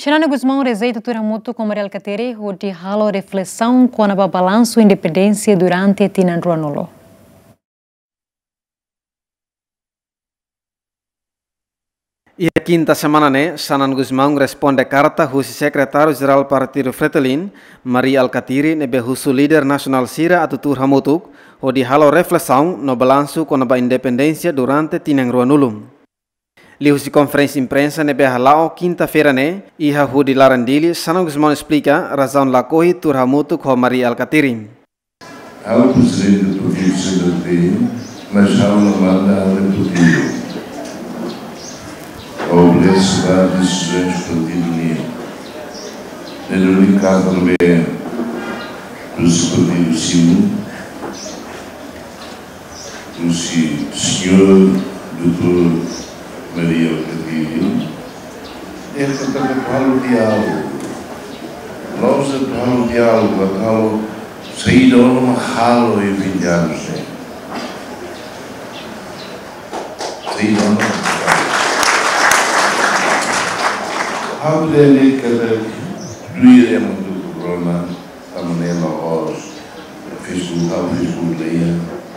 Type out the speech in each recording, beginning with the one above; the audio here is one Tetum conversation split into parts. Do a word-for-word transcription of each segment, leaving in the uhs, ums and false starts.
Xanana Gusmão rejeita tuir hamutuk ho Mari Alkatiri hodi halo reflesaun kona-ba balansu independénsia durante tinan ruanulu. Iha kinta semana ne'e, Xanana Gusmão responde karta husi Sekretáriu Jerál Partidu Fretilin, Mari Alkatiri, ne'ebé husu líder nasionál sira atu tuur hamutuk hodi halo reflesaun no balansu kona-ba independénsia durante tinan ruanulu. Liuhusi konferénsia imprensa ne'ebé hala'o kinta-feira ne'e, iha hudi laran Dili, Xanana Gusmão esplika razaun lakohi tuur hamutuk ho Mari Alkatiri. Ha'u prezidente partidu C D T, mas ha'u la manda ha'u-nia partidu. Ha'u obedese ba desizaun partidu nian. Ne'e duni karta ne'ebé husi partidu simu, husi señór doutór Mari Alkatiri. Esta também halo diálogu. Nós halo diálogu, halo saida ona mak halo iha vinte anos ne'e. Saida ona mak halo. Ha'u dehan katak tuir ema tuku rona, tanba ne'e la'ós Facebook, ha'u Facebook la iha,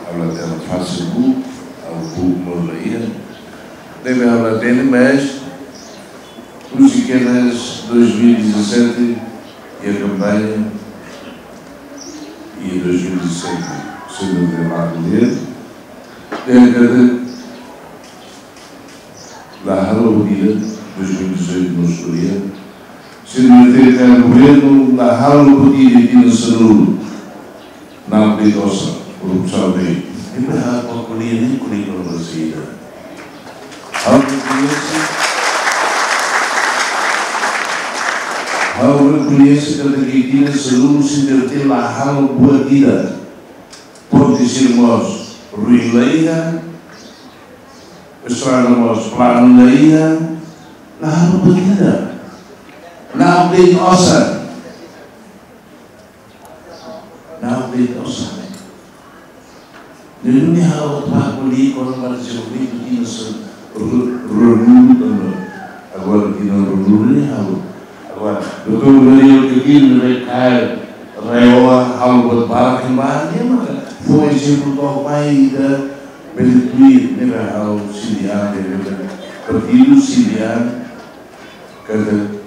ha'u la hatene Facebook, ha'u book mós la iha. Ne'ebé ha'u la hatene, mas husi kedas dois mil e dezassete, iha kampaña, iha dois mil e dezassete, se não me engano, dehan katak la halo buat ida, dois mil e dezoito mós ko'alia. Se não tem governo, la halo buat ida iha tinan sanulu. Na'ok de'it osan, korrupsaun de'it. Ita ha'u ko'alia ne'e ko'alia kona-ba saida. Ha'u rekoñese, ha'u rekoñese katak iha tinan sanulu sira la halo buat ida. Ponte sira mós ruin la iha, estrada mós planu la iha, la halo buat ida. Na'ok de'it osan. Na'ok de'it osan. Ne'e duni ha'u atu ko'alia kona-ba dezenvolvimentu tinan sanulu, ru-, ruanulu tanba agora tinan ruanulu ne'e ha'u. Agora, doutór Mari Alkatiri ne'ebé kaer RAEOA, halo buat barak iha ne'ebá, nia maka fó ezemplu to'o mai ida bele tuir, ne'ebé ha'u sente, ne'ebé partidu sente katak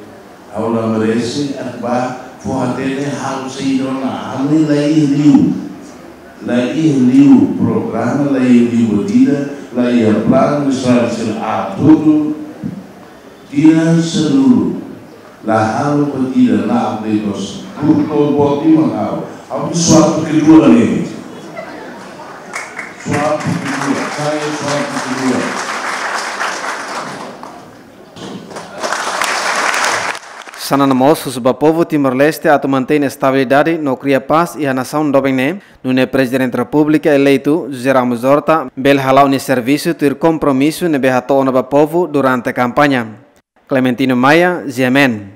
ha'u la merese atu bá fó hatene halo saida ona, ha'u la iha liu. La iha liu programa, la iha liu buat ida, la iha planu, estrada sira aat hotu. Tinan sanulu la halo buat ida, na'ok de'it osan. Produtór boot mak ha'u. Ha'u suatu kedua ne'e. Suatu kedua, saya suatu kedua. Xanana mós husu ba povu Timor-Leste atu mantein estabilidade no kria pás iha nasaun doben ne'e, nune'e Prezidente Repúblika eleitu, José Ramos Horta, bele hala'o nia servisu tuir kompromisu ne'ebé hato'o ona ba povu durante kampaña. Clementino Maia, G M N.